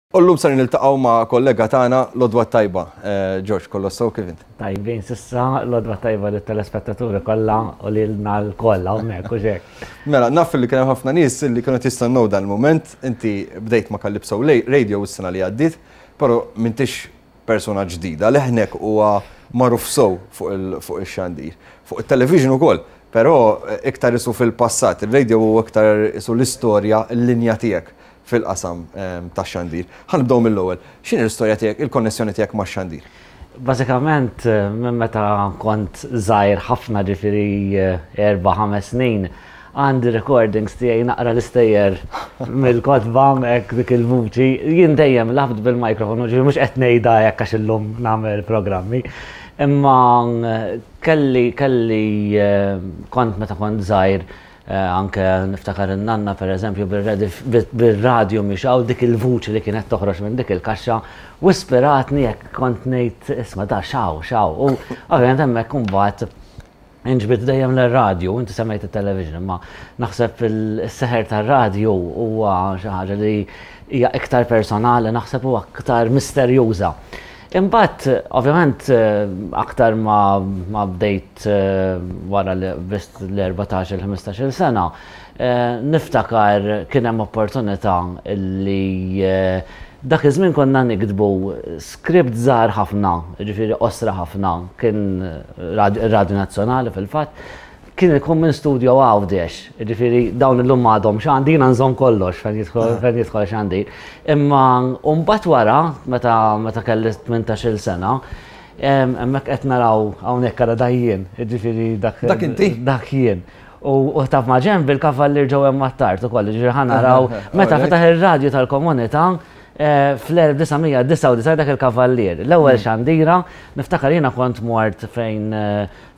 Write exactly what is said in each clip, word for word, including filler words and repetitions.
U llum sar niltaqgħu ma' kollega tagħna l-għodwa t-tajba. George, kollox sew, kif int? Tajbin s'issa, l-għodwa t-tajba lit-telespettaturi kollha u lilna lkoll hawnhekk u xek. Mela, naf li kien hemm ħafna nies li kienu jistennew dan il-mument, inti bdejt ma' Calypso Radio s-sena li għaddiet, però m'intix persona ġdida, leħnek huwa magħruf sew fuq ix-xandir. Fuq it-television ukoll, però iktar isu fil-passat, il-radio huwa iktar isu l-istorja, l-linja tiegħek fil-qasam tax-xandir. Ħa nibdew mill-ewwel. X'inhi l-istorja tiegħek, il-konnessjoni tiegħek max-xandir? Bażikament, minn meta kont żgħir ħafna, ġifieri erba' ħames snin, għandi recordings tiegħi naqra l-istejjer mill-kotba hekk dik il-vuċi. Jien dejjem lgħabt bil-mikrofonu, ġifieri mhux qed ngħidha hekk għax illum nagħmel programmi. Imma kelli kelli kont meta kont żgħir, anke niftakar in-nanna, per eżempju, bil-radio mixgħul, dik il-vuċi li kienet toħroġ minn dik il-kaxxa u ispiratni jekk kont ngħid, "Isma', da xaw, xaw." U ovvjament hemmhekk imbagħad inġbid dejjem l-radio, inti semmejt il-television, imma naħseb il-seħer tar-radio huwa xi ħaġa li hija iktar personali, naħseb u aktar misterjuża. Imbagħad, ovvjament, aktar ma, ma bdejt wara li qbiżt l-erbatax il-ħmistax-il sena, niftakar kien hemm opportunità li dak iż-żmien konna niktbu script żgħar ħafna, ġifieri qosra ħafna, kien Radio Nazzjonali fil-fatt, kien ikun minn studio Għawdex, ġifieri dawn illum m'għadhom x'għandi, jiena nżomm kollox fejn jidħol xandir. Imma mbagħad wara, meta meta kelli tmintax-il sena, hemmhekk qed naraw hawnhekk ara dajjien, ġifieri dak. Dak inti? Dak jien. U taf ma' ġenb il-kavallier ġew hemm Attard ukoll, ġifieri ħa naraw meta fetaħ ir-radju tal-komunità fl-elf disa' mija disgħa u disgħin dak il-kavallier. L-ewwel xandira, niftakar jiena kont mort fejn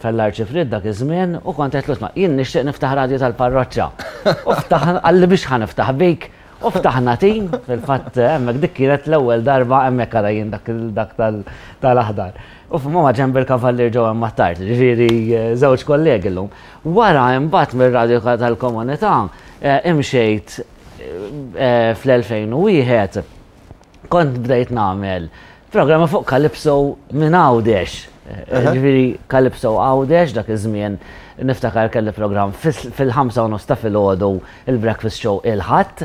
fejn l-Arċipriet dak iż-żmien u kont qed isma', jien nixtieq niftaħ radju tal-parroċċa. U ftaħ, qalli, "Biex ħa niftaħ bik?" U ftaħna tim, fil-fatt hemmhekk dik kienet l-ewwel darba, hemmhekk ara jien dak dak tal-aħdar. U f'ma ġenb il-kavallier ġew hemm Attard, ġifieri żewġ kollegi llum. Wara imbagħad mir-radju tal-komunità imxejt fl-elfejn u wieħed, kont bdejt nagħmel programma fuq Calypso minn Għawdex. Ġifieri Calypso Għawdex dak iż-żmien, niftakar kelli programm fil-ħamsa u nofs ta' filgħodu, il-breakfast show il-Ħadd.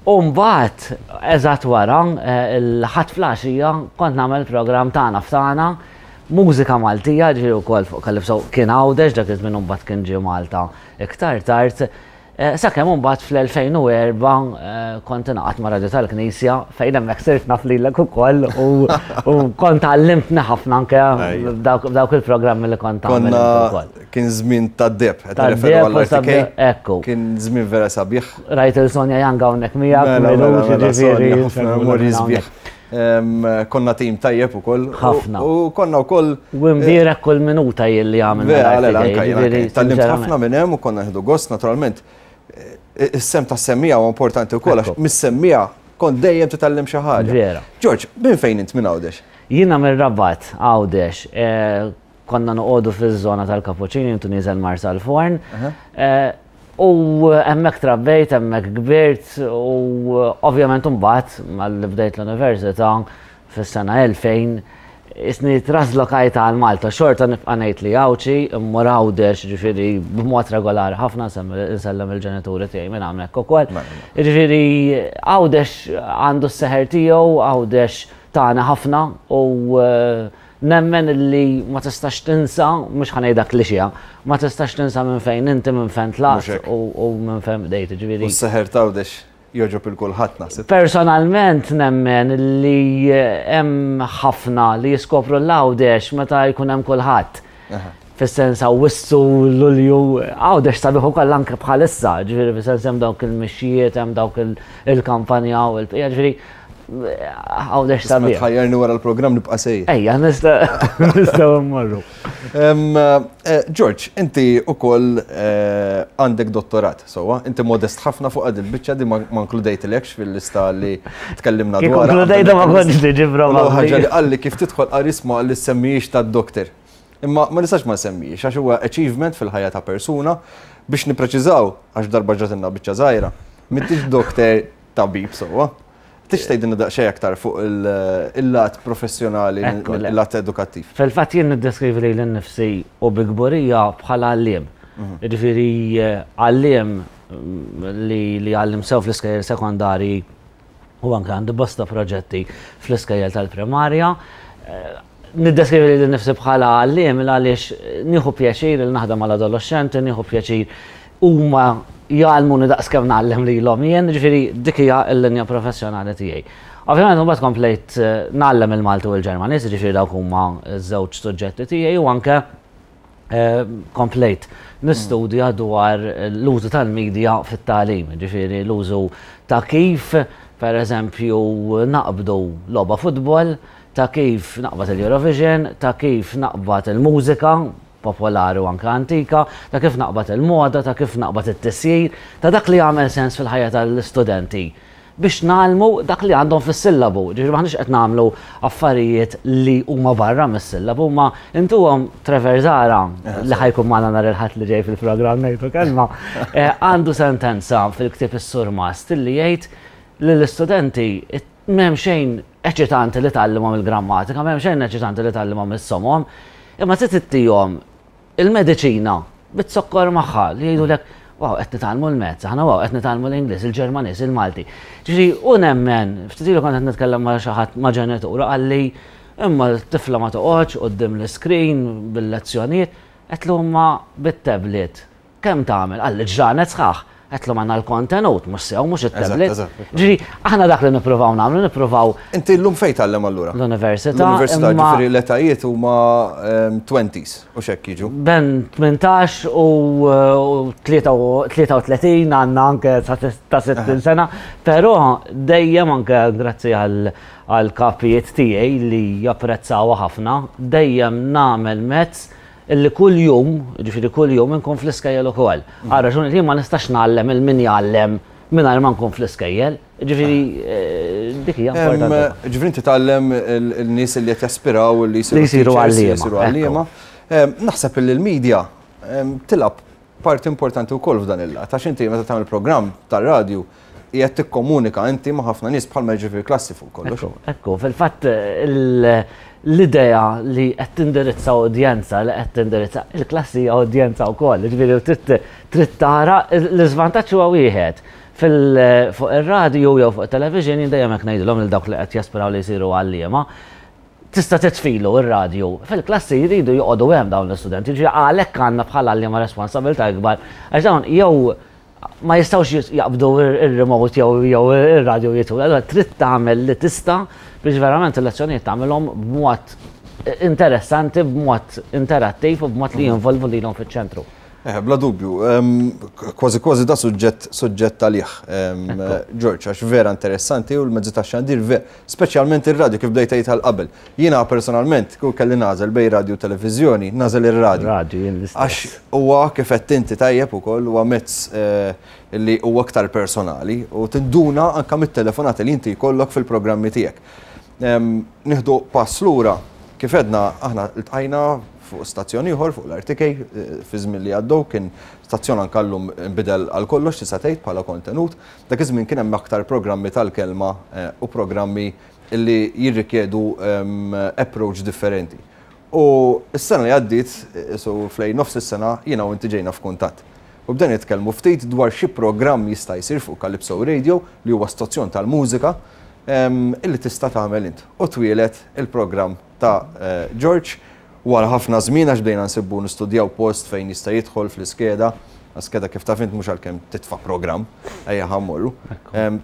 U mbagħad eżatt wara il-Ħadd filgħaxija kont nagħmel programm Tagħna f'Tagħna, mużika Maltija, ġifieri wkoll fuq Calypso, kien Għawdex dak iż-żmien, mbagħad kien ġie Malta iktar tard. Sakemm mbagħad fl-elfejn u erbgħa kont ingħaqadt ma' Radio tal-Knisja, fejn hemmhekk sirt naf lilek ukoll u kont għallimtni ħafna anke dawk il-programmi li kont tagħmel ukoll. Kien żmien tad-deheb, qed nirreferu għall-R T K. Ekku. Kien żmien vera sabiħ. Rajt il-Sonja Janga hawnhekk miegħek, ġifieri. Memorji sbieħ. Konna tim tajjeb ukoll. Ħafna. U konna wkoll. U mbierek kull minuta jilli għamilna. Tgħallimt ħafna minn hemm u konna nieħdu gost, naturalment. Is-sehem ta' semmiegħa huwa importanti wkoll għax mis-semmiegħa kont dejjem titgħallem xi ħaġa. Vera. George, minn fejn int minn Għawdex? Jiena mir-Rabat, Għawdex. Konna noqogħdu fiż-żona tal-Kapuċini, intu nieżel Marsalforn. U hemmhekk trabbejt, hemmhekk kbirt u ovvjament mbagħad malli bdejt l-università fis-sena elfejn isni traslokajt għal Malta, xorta nibqa' ngħid li Għawdxi, immur Għawdex ġifieri b'mod regolari ħafna, nsellem il-ġenituri tiegħi minn hawnhekk ukoll. Ġifieri Għawdex għandu s-seħer tiegħu, Għawdex tagħna ħafna u nemmen li ma tistax tinsa, mhux ħa ngħidha klixiha, ma tistax tinsa minn fejn inti, minn fejn tlaqt u minn fejn bdejt, ġifieri. U s-seħer t'Għawdex jogħġob lil kulħadd, naħseb. Personalment nemmen li hemm ħafna li jiskopru l-Għawdex meta jkun hemm kulħadd. Fis-sens Awwissu, Lulju, Għawdex sabiħ ukoll anke bħalissa, ġifieri fis-sens hemm dawk il-mixjiet, hemm dawk il-kampanja u l-bqija, ġifieri Għawdex sabiħ. Tħajjarni wara l-programm nibqa' sejjer. Ejja, nistgħu mmorru. George, inti ukoll għandek dottorat, sewwa, inti modest ħafna fuq għad il-biċċa di, ma inkludejtilekx fil-lista li tkellimna dwar. Inkludejta ma kontx tiġi probabbli. Ħaġa li qalli kif tidħol qarisma li semmijiex tad-doktor. Imma ma nistax ma semmijiex għax huwa achievement fil-ħajja ta' persuna. Biex nipreċiżaw, għax darba ġatilna biċċa żgħira. M'intix doktor tabib, sewwa. Tista' tgħidilna daqsxejn aktar fuq il-lat professjonali, il-lat edukattiv? Fil-fatt jien niddeskrivi lili nnifsi u bi kburija bħala għalliem. Jiġifieri għalliem li jgħallem sew fl-iskejjel sekondari u anke għandi bosta proġetti fl-iskejjel tal-primarja. Niddeskrivi lili nnifsi bħala għalliem għaliex nieħu pjaċir li naħdem mal-adolescenti, nieħu pjaċir huma jgħallmuni daqs kemm ngħallem lilhom jien, ġifieri dik hija l-linja professjonali tiegħi. Ovvjament mbagħad komplejt ngħallem il-Malti u l-Ġermaniż, ġifieri dawk huma ż-żewġ suġġetti tiegħi, u anke komplejt nistudja dwar l-użu tal-medja fit-tagħlim, ġifieri l-użu ta' kif, per eżempju, naqbdu logħba futbol, ta' kif naqbad il-Eurovision, ta' kif naqbad il-mużika popolari u anke antika, ta' kif naqbad il-moda, ta' kif naqbad it-tisjir, ta' dak li jagħmel sens fil-ħajja tal-istudenti biex nagħmlu dak li għandhom fis-sillabu. Ġifieri m'aħniex qed nagħmlu affarijiet li huma barra mis-sillabu, ma intuhom Trevor Zara li ħa jkun magħna nhar il-Ħadd li ġej fil-programm Ngħidu Kelma, għandu sentenza fil-ktieb Is-Surmast li jgħid li l-istudenti m'hemm xejn eċitanti li tgħallimhom il-grammatika, m'hemm xejn eċitanti li tgħallimhom is-somom, imma trid ittihom il-mediċina bit-sokkor magħha li jgħidulek wow, qed nitgħallmu l-mezz, aħna wow, qed nitgħallmu l-Ingliż, il-Ġermaniż, il-Malti. Ġifieri u nemmen, ftit ilu kont qed nitkellem ma' xi ħadd ma' ġenitur, qalli imma l-tifla ma toqgħodx quddiem l-iskrin bil-lezzjonijiet, qed ma bit-tablet. Kemm tagħmel? Qalli ġranet sħaħ. Għedtlu għandna l-kontenut, mhux sew, mhux it-tablet. Ġifieri, aħna dak li nippruvaw nagħmlu, nippruvaw. Inti llum fejn tgħallem allura? L-università. L-università, ġifieri l-etajiet huma twenties u x'hekk jiġu. Ben tmintax u tlieta u tletin, għandna anke ta' sittin sena, però dejjem anke grazzi għal kapijiet tiegħi li japprezzawha ħafna, dejjem nagħmel mezz illi kull jum, ġifieri kull jum inkun fl-iskejjel ukoll. Għal raġuni li ma nistax ngħallem il min jgħallem mingħajr ma nkun fl-iskejjel. Ġifieri dik hija importanti. Ġifieri inti tgħallem il-nies li qed jaspiraw li jsiru għalliema. Naħseb li l-medja tilgħab parti importanti wkoll f'dan il-lat, għax inti meta tagħmel programm tar-radju qiegħed tikkomunika inti ma' ħafna nies bħalma jiġri fil-klassi fuq kollox. Ekku, fil-fatt l-idea li qed tindirizza udjenza, li qed tindirizza il-klassi hija udjenza wkoll, ġifieri trid tara l-iżvantaġġ huwa wieħed. Fuq ir-radju jew fuq it-television jien dejjem hekk ngħidilhom lil dawk li qed jaspiraw li jsiru għalliema, tista' titfilu r-radju. Fil-klassi jridu joqogħdu hemm dawn l-istudenti, ġifieri għalhekk għandna bħala għalliema responsabilità ikbar għax dawn jew ma jistgħux jaqbdu ir-remote jew ir-radju jitu. Allura trid tagħmel li tista' biex verament il-lezzjonijiet tagħmilhom b'mod interessanti, b'mod interattiv u b'mod li jinvolvu lilhom fiċ-ċentru. Eh, bla dubju, kważi kważi da suġġett suġġett għalih, George, għax vera interessanti u l-mezzi tax-xandir ver, speċjalment ir-radju kif bdejt tgħid qabel. Jiena personalment kieku kelli nagħżel bejn radju u televiżjoni, nagħżel ir-radju. Radju jien l-istess. Għax huwa kif qed inti tajjeb ukoll huwa mezz li huwa aktar personali u tinduna anke mit-telefonati li inti jkollok fil-programmi tiegħek. Nieħdu pass lura, kif għedna aħna ltqajna fuq stazzjon ieħor fuq l-R T K fi żmien li għaddew, kien stazzjon anke llum nbidel għal kollox tista' tgħid bħala kontenut. Dak iż-żmien kien hemm aktar programmi tal-kelma u programmi li jirrikjedu approach differenti. U s-sena li għaddiet, so flejn nofs is-sena, jiena u inti ġejna f'kuntatt. U bdejna nitkellmu ftit dwar xi programm jista' jsir fuq Calypso Radio li huwa stazzjon tal-mużika illi tista' tagħmel int. U twielet il-programm ta' George wara ħafna żmien għax bdejna nsibbu nistudjaw post fejn jista' jidħol fl-iskeda. Skeda kif taf int mhux għalkemm titfa' programm, ejja ħammorru.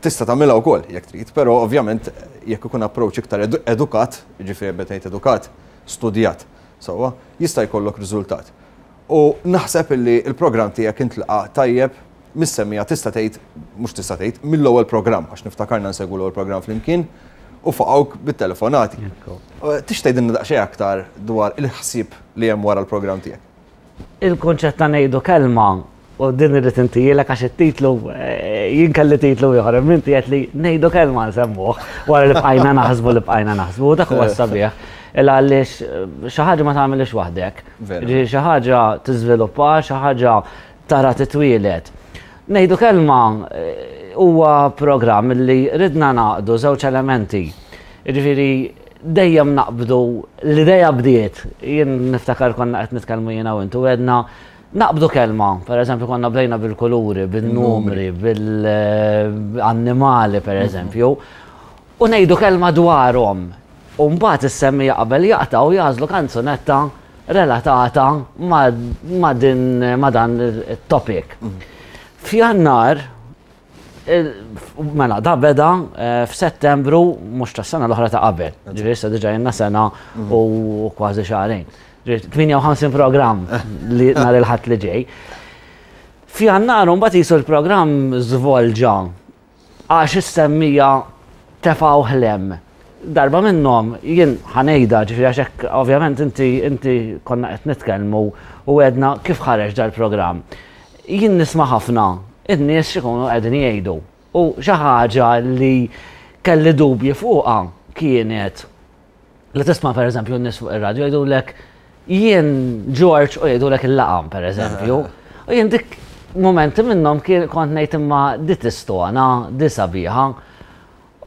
Tista' tagħmilha wkoll jekk trid, però ovvjament jekk ikun approach iktar edukat, jiġifieri meta ngħid edukat, studjat, sewwa, jista' jkollok riżultat. U naħseb illi l-programm tiegħek intlaqa' tajjeb mis-semmija tista' tgħid, mhux tista' tgħid, mill-ewwel programm, għax niftakarna nsegwu l-ewwel programm flimkien u faqgħuk bit-telefonati. Tix tgħidilna daqsxejn aktar dwar il-ħsieb li hemm wara l-programm tiegħek? Il-kunċett ta' ngħidu kelma u din irrid intijielek għax it-titlu, jien kelli titlu ieħor, imma inti qed li ngħidu kelma nsemmuh wara li bqajna naħsbu li bqajna naħsbu, dak huwa sabiħ. Illa għaliex xi ħaġa ma tagħmilx waħdek. Ġifieri xi ħaġa tiżviluppa, xi ħaġa tara titwielet. Ngħidu Kelma huwa programm li ridna naqdu żewġ elementi. Jiġifieri dejjem naqbdu l-idea bdiet, jien niftakar konna qed nitkellmu jiena u intu għedna naqbdu kelma, per eżempju konna bdejna bil-kuluri, bil-numri, bil-annimali per eżempju, u ngħidu kelma dwarhom. U mbagħad is-semmiegħa qabel jaqtgħu jagħżlu kanzunetta relatata ma' din ma' dan it-topic. F'Jannar, mela, da beda f'Settembru, mhux tas-sena l-oħra ta' qabel. Ġifieri issa diġà jenna sena u kważi xahrejn. tmienja u ħamsin programm li nhar il-Ħadd li ġej. F'Jannar mbagħad jisu l-programm żvolġa għax is-semmiegħa tefgħu ħlem. Darba minnhom jien ħa ngħidha, ġifieri għax hekk ovvjament inti inti konna qed nitkellmu u għedna kif ħareġ dal-programm. Jien nisma' ħafna in-nies x'ikunu qegħdin jgħidu. U xi ħaġa li kelli dubji fuqha kienet li tisma' pereżempju n-nies fuq ir-radju jgħidulek jien George u jgħidulek il-laqam pereżempju. U jien dik momenti minnhom kien kont ngħid imma di tistona, di sabiħa.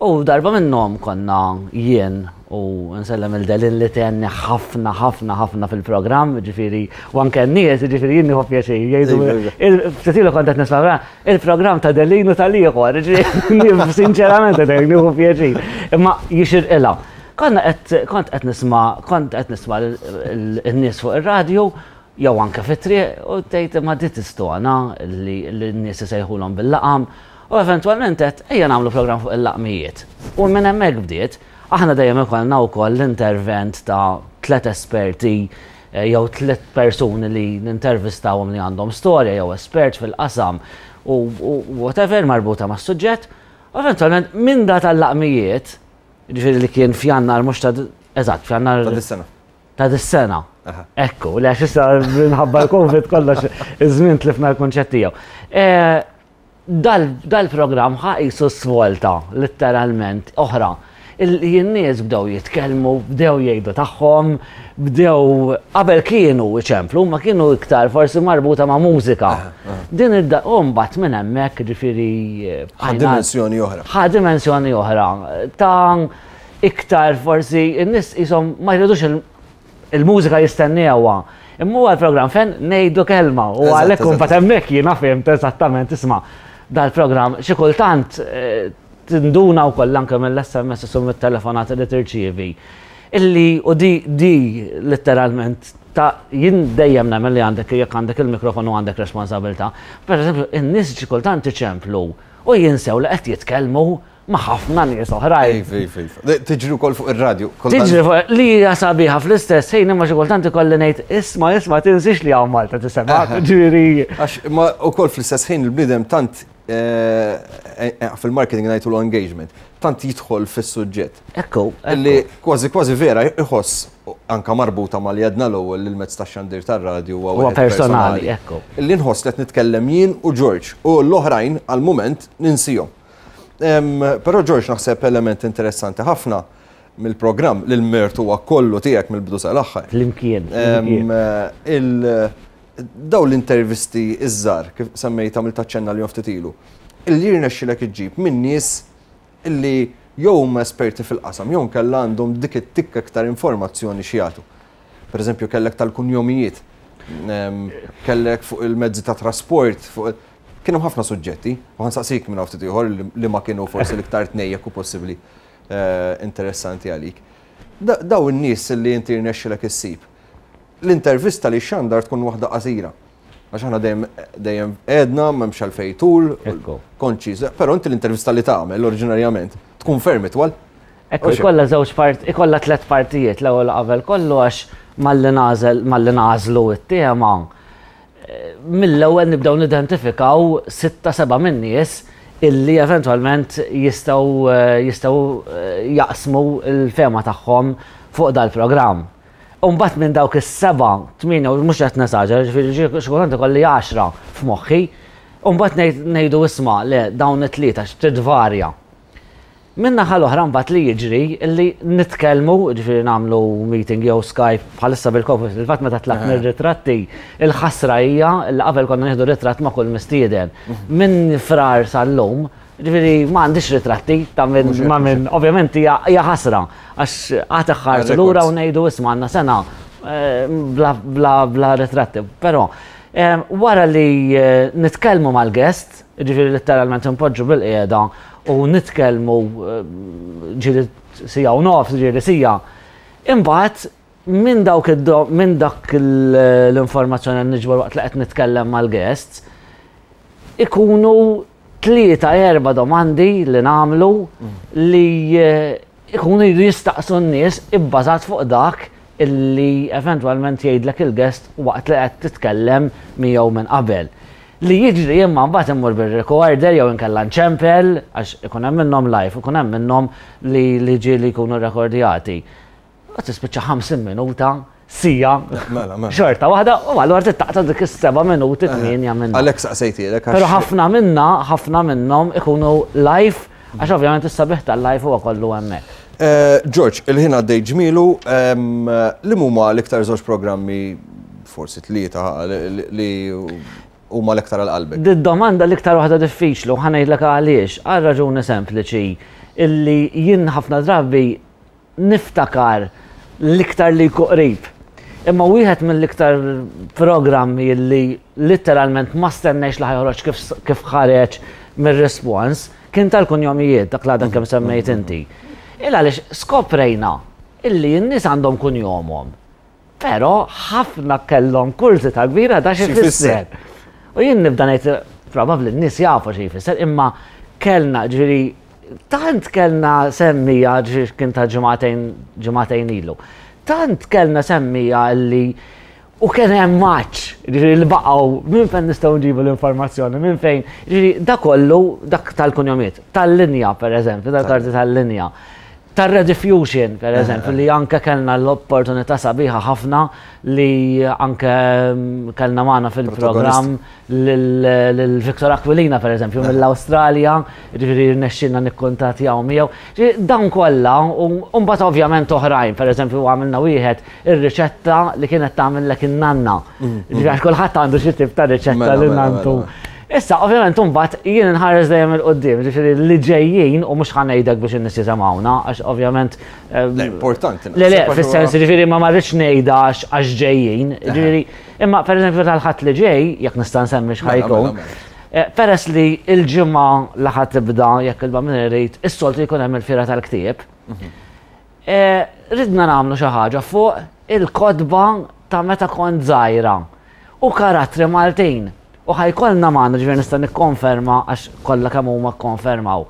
U darba minnhom konna jien u nsellem il-Delin li tenni ħafna ħafna ħafna fil-programm, ġifieri, u anke n-nies, ġifieri jien nieħu pjaċir, jgħidu, ftit ilu kont qed nisma' il-programm ta' Delin u tal-ieħor, ġifieri, sinċerament qed nieħu pjaċir, imma jixirqilha. Konna qed kont qed nisma' kont qed nisma' n-nies fuq ir-radju jew anke fit-triq u tgħid imma di tistona li n-nies isejħulhom bil-laqam. U eventwalment qed ejja nagħmlu programm fuq il-laqmijiet. U minn hemmhekk bdiet, aħna dejjem ikollna wkoll l-intervent ta' tliet esperti jew tliet persuni li nintervistawhom li għandhom storja jew espert fil-qasam u whatever marbuta mas-suġġett. U eventwalment minn da tal-laqmijiet, ġifieri li kien f'Jannar mhux ta' eżatt, f'Jannar Ta' dis-sena. Ta' dis-sena. Ekku, li għax issa minħabba l-Covid kollox iż-żmien tlifna l-kunċett tiegħu. Dal-programm ħa qisu svolta, letteralment, oħra. Il-nies bdew jitkellmu, bdew jgħidu tagħhom, bdew qabel kienu iċemplu, ma kienu iktar forsi marbuta ma' mużika. Din id u mbagħad minn hemmhekk ġifieri Ħa dimensjoni oħra. Ħa dimensjoni oħra. Ta' iktar forsi n-nies qishom ma jridux il-mużika jistennewha. Imma huwa l-programm fejn ngħidu kelma u għalhekk imbagħad hemmhekk jiena fhimt eżattament isma' dal-programm xi kultant tinduna wkoll anke mill-S M S u mit-telefonati li tirċievi. Illi u di, di letteralment ta' jien dejjem nagħmel li għandek jekk għandek il-mikrofonu għandek responsabilità. Per eżempju, in-nies xi kultant iċemplu u jinsew li qed jitkellmu ma' ħafna nies oħrajn. Ej, ej, ej, ej. Tiġri wkoll fuq ir-radju. Tiġri fuq li hija sabiħa fl-istess ħin imma xi kultant ikolli ngħid isma' isma' tinsiex li hawn Malta tisema', ġifieri. Għax ma wkoll fl-istess ħin il-bniedem tant fil-marketing ngħidu l-engagement, tant jidħol fis-suġġett. Ekku, ekku. Li kważi kważi vera iħoss anka marbuta mal li għedna l-ewwel li l-mezz tax-xandir tar-radju huwa Huwa wieħed personali, personali. ekku. Illi nħoss li qed nitkellem jien u George u l-oħrajn għal-mument ninsihom. Però George naħseb element interessanti ħafna mill-programm li l-mertu huwa kollu tiegħek mill-bidu sal-aħħar. Flimkien, Em, flimkien. il-, daw l-intervisti iż-żgħar, kif semmejt għamilt aċċenna li ftit ilu, illi jirnexxilek iġġib minn nies illi jew huma esperti fil-qasam, jew nkella għandhom dik it-tikka iktar informazzjoni xi jagħtu. Per eżempju, kellek tal-kunjomijiet, em, kellek fuq il-mezzi ta' trasport, fuq il-, kienu ħafna suġġetti, u ħa nsaqsik minn ftit ieħor li, li ma kienu forsi l-iktar tnejjek u possibbli, eh, interessanti għalik. Da-, daw in-nies li inti jirnexxilek issib. L-intervista li xandar tkun waħda qasira. Għax aħna dejjem, dejjem għedna, m'hemmx għalfejn tul, Ekku. konċiż, però inti l-intervista li tagħmel oriġinarjament tkun ferm itwal. Ekku, Oxi. ikollha żewġ part, ikollha tliet partijiet, l-ewwel qabel kollu għax malli nażel, malli nażlu t-tema, eh, mill-ewwel nibdew nidentifikaw sitta seba' minn nies illi eventwalment jistgħu, eh, jistgħu, eh, jaqsmu l-fema tagħhom fuq dal-programm. U mbagħad minn dawk is-seba', tmienja, u mhux qed nesaġera, ġifieri xi kultant ikolli għaxra f'moħħi, u mbagħad ngħid, ngħidu isma' le dawn it-tlieta x'tidvarja. Min-naħa l-oħra mbagħad li jiġri illi nitkellmu, ġifieri nagħmlu meeting jew Skype bħalissa bil-Covid, il-fatt meta tlaqna ir-ritratti, il-ħasra hija li qabel konna nieħdu ritratt ma' kull mistieden. Minn Frar sal-lum, ġifieri ma għandix ritratti ta' minn ma' minn, ovvjament hija ħasra għax għad iħarsu lura u ngħidu isma' għandna sena bla bla bla ritratti. Però wara li nitkellmu mal-guest, ġifieri letteralment npoġġu bil-qiegħda u nitkellmu ġieli siegħa u nofs, ġieli siegħa. Imbagħad minn dawk minn dak l-informazzjoni li niġbor waqt li qed nitkellem mal-guests, ikunu tlieta erba' domandi li nagħmlu li ikunu jridu jistaqsu n-nies ibbażat fuq dak illi eventwalment jgħidlek il-guest waqt li qed titkellem miegħu minn qabel. Li jiġri imma mbagħad immur bir-recorder jew inkella nċempel għax ikun hemm minnhom live, ikun hemm minnhom li li ġieli jkunu rekordjati. U tispiċċa ħamsin minuta, siegħa, xorta waħda, u allura tittaqta' dik is-seba' minuti tmienja minnhom. Għalhekk saqsejtilek. Però ħafna minna, ħafna minnhom ikunu live, għax ovvjament is-sabiħ tal-live huwa kollu hemmhekk. George, il-ħin għaddej ġmielu, li huma l-iktar żewġ programmi, forsi tlieta, li huma l-iktar għal qalbek? Did-domanda l-iktar waħda diffiċli u ħa ngħidlek għaliex, għal raġuni sempliċi illi jien ħafna drabi niftakar l-iktar li jkun qrib. Imma wieħed mill-iktar programmi illi letteralment ma stennejx li ħa joħroġ kif ħareġ mir-respons kien tal-kunjomijiet, dak l-għadan kemm semmejt inti. Il għaliex skoprejna illi n-nies għandhom kunjomhom, però ħafna kellhom kurżità kbira da xi jfisser. U jien nibda ngħid probabbli n-nies jafu xi jfisser, imma kellna ġifieri tant kellna semmija ġifieri kien ta' ġimagħtejn ġimagħtejn ilu. Tant kellna semmija illi u kien hemm maċ, ġifieri li baqgħu minn fejn nistgħu nġibu l-informazzjoni, minn fejn, ġifieri dak kollu dak tal-kunjomiet, tal-linja pereżempju, tal-karti tal-linja. Tar-Rediffusion, per eżempju, li anke kellna l-opportunità sabiħa ħafna li anke kellna magħna fil-programm lil Victor Aquilina, per eżempju, mill-Awstralja, ġifieri rnexxilna nikkuntattjaw miegħu. Ġifieri dawn kollha, u mbagħad ovvjament oħrajn, per eżempju, għamilna wieħed ir-riċetta li kienet tagħmillek in-nanna. Ġifieri għax kulħadd għandu xi tip ta' riċetta li nantu. Issa, ovvjament, mbagħad jien nħares dejjem 'il quddiem, ġifieri li ġejjin u mhux ħa ngħidlek biex in-nies jisimgħuna, għax ovvjament. Le, importanti. Le, le, fis-sens ġifieri ma marridx ngħidha għax ġejjin, ġifieri, imma pereżempju tal-Ħadd li ġej, jekk nista' nsemmi x'ħa jkun, peress li l-ġimgħa li ħa tibda jekk il-Bambin irid, is-soltu jkun hemm il-fiera tal-ktieb. Ridna nagħmlu xi ħaġa fuq il-kotba ta' meta kont żgħira u karattri Maltin. U ħajkollna magħna, ġifieri nista' nikkonferma għax kollha kemm huma kkonfermaw.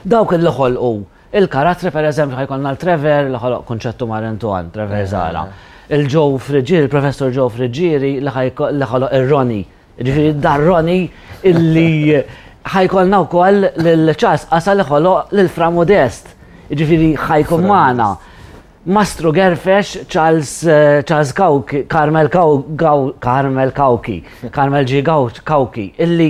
Dawk li ħolqu il-karattri, pereżempju, ħajkollna l-Trevor li ħoloq Kunċettu Marinton, Trevor Zara. Il-Joe Friggieri, il-Professor Joe Friggieri li ħoloq ir-Ronnie. Ġifieri dar Ronnie illi ħajkollna wkoll lil Charles Qasa li ħoloq lil Fra Modest. Ġifieri ħajkun magħna. Mastru Gerfex, Charles, Charles Cauchi, Carmel Carmel Cauchi, Carmel G. Cauchi, illi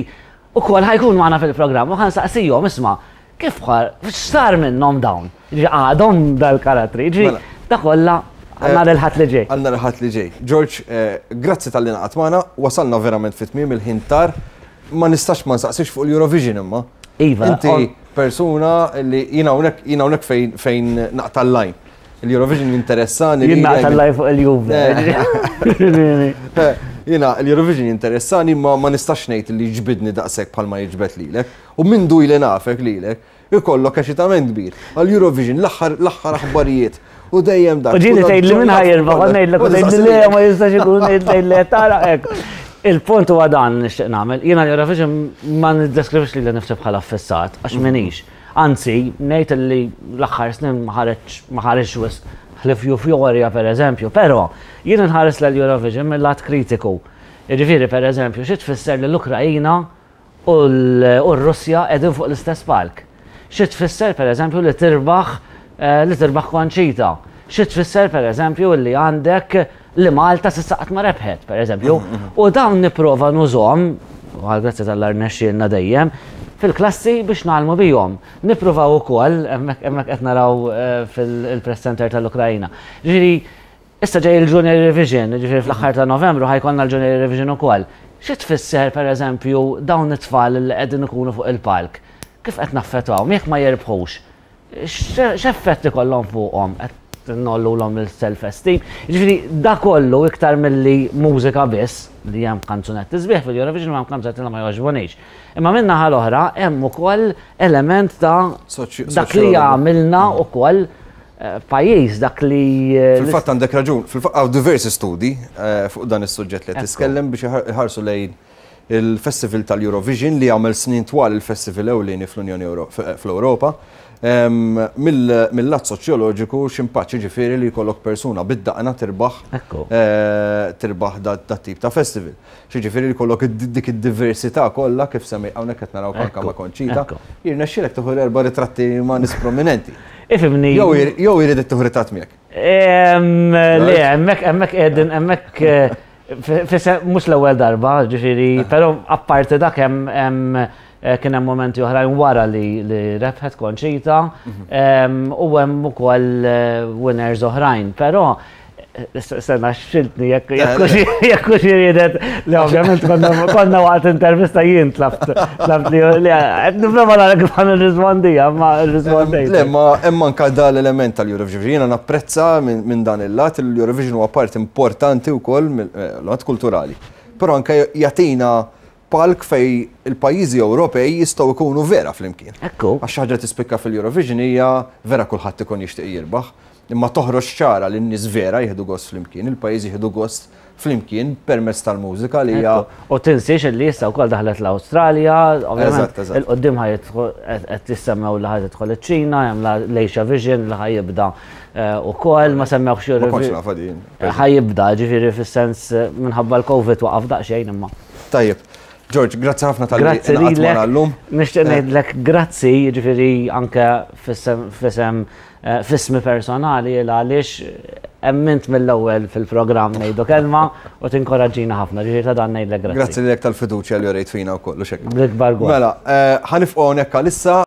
ukoll ħajkun magħna fil-programm u ħansaqsihom isma' kif x'sar minnhom dawn? Ġifieri għadhom dal-karattri, ġifieri da kollha għandna l-Ħadd li ġej. Għandna l-Ħadd li ġej. George, grazzi talli ngħaqadt magħna, wasalna verament fit tmiem il-ħin tar, ma nistax ma nsaqsix fuq l-Eurovision imma. Iva. Inti persuna li jiena hawnhekk jiena hawnhekk fejn fejn naqta' l-line. L-Eurovision jinteressani. Jien naqta' l-line fuq il-Juve. Jiena l-Eurovision jinteressani ma ma nistax ngħid li jiġbidni daqshekk bħalma jiġbed lilek. U minn du li nafek lilek, ikollok eċitament kbir. Għall-Eurovision l-aħħar aħbarijiet. U dejjem dak. U ġieli tgħid li minn ħa jirbaħ, ngħidlek u tgħid li le ma jistax ikun tgħid li tara hekk. Il-punt huwa dan nixtieq nagħmel. Jiena l-Eurovision ma niddeskrivix lili nnifsi bħala affissat għax m'iniex. Anzi, ngħid li l-aħħar snin ma ħareġ wisq ħlief Euphoria pereżempju, però jien nħares l-Eurovision mill-lat kritiku. Jiġifieri pereżempju xi tfisser li l-Ukrajina u r-Russja qegħdin fuq l-istess palk. Xi tfisser pereżempju li tirbaħ li tirbaħ Conchita. Xi tfisser pereżempju li għandek li Malta s'issa qatt ma rebħet, pereżempju. U dawn nipprova nużhom, u għal grazzi tal-Alla rnexxielna dejjem, fil-klassi biex ngħallmu bihom. Nippruvaw ukoll, hemmhekk qed naraw fil-Press Center tal-Ukrajna. Ġifieri, issa ġej il-Junior Eurovision, ġifieri fl-aħħar ta' Novembru ħa jkollna l-Junior Eurovision ukoll. Xi tfisser, pereżempju, dawn it-tfal li qegħdin ikunu fuq il-palk? Kif qed naffettwahom jekk ma jirbħux? X'effett ikollhom fuqhom? Qed ngħollulhom il-self-esteem? Ġifieri da kollu iktar milli mużika biss, li hemm kanzunetti sbieħ fil-Eurovision u hemm kanzunetti li ma jogħġbunix. Imma min-naħa l-oħra hemm ukoll element ta' dak li jagħmilna ukoll pajjiż, dak li. Fil-fatt għandek raġun, fil-fatt hawn diversi studi fuq dan is-suġġett li qed tiskellem biex iħarsu lejn il-Festival tal-Eurovision li għamel snin twal il-Festival ewlieni fl-Unjoni fl-Ewropa. Mill-lat soċjoloġiku x'impatt, ġifieri li jkollok persuna bid-daqna tirbaħ tirbaħ dat tip ta' festival. Ġifieri li jkollok dik id-diversità kollha kif semmi hawnhekk qed naraw anke ma' Conchita. Jirnexxielek tieħu erba' ritratti ma' nies prominenti. Ifhimni. Jew jrid tieħu ritratt miegħek. Le, hemmhekk hemmhekk qegħdin hemmhekk mhux l-ewwel darba, ġifieri, però apparti dak hemm kien hemm momenti oħrajn wara li rebħet Conchita u hemm ukoll winners oħrajn, però sena xiltni jekk hux iridet li ovvjament konna waqt intervista jien tlabt tlabt li qed nipprova nara kif ħa nirrispondija, ma rrispondejt. Le, ma hemm anke da l-element tal-Eurovision. Jiena napprezza minn dan il-lat, l-Eurovision huwa part importanti wkoll mill-lat kulturali. Però anke jagħtina palk fej il-pajjiżi Ewropej jistgħu jkunu vera flimkien. Ekku. Għax ħaġa tispikka fil-Eurovision hija vera kulħadd ikun jixtieq jirbaħ, imma toħroġ ċara li n-nies vera jieħdu gost flimkien, il-pajjiżi jieħdu gost flimkien permezz tal-mużika li hija. U tinsiex li issa wkoll daħlet l-Awstralja, ovvjament il-qoddim qed tissemmew li ħa tidħol iċ-Ċina, hemm l-Asia Vision li ħa jibda ukoll, ma semmewx Ma kontx nafha din. Ħa jibda, ġifieri fis-sens minħabba l-Covid waqaf daqsxejn imma. Tajjeb. George, grazzi ħafna tal-li Grazzi lilek. Nixtieq ngħidlek grazzi, ġifieri anke f'isem f'ismi personali għaliex emmint mill-ewwel fil-programm ngħidu kelma u tinkoraġġina ħafna, ġifieri ta' dan ngħidlek grazzi. Grazzi lilek tal-fiduċja li urejt fina wkoll u xekk. Bl-ikbar gost. Mela, ħa nifqgħu hawnhekk għalissa.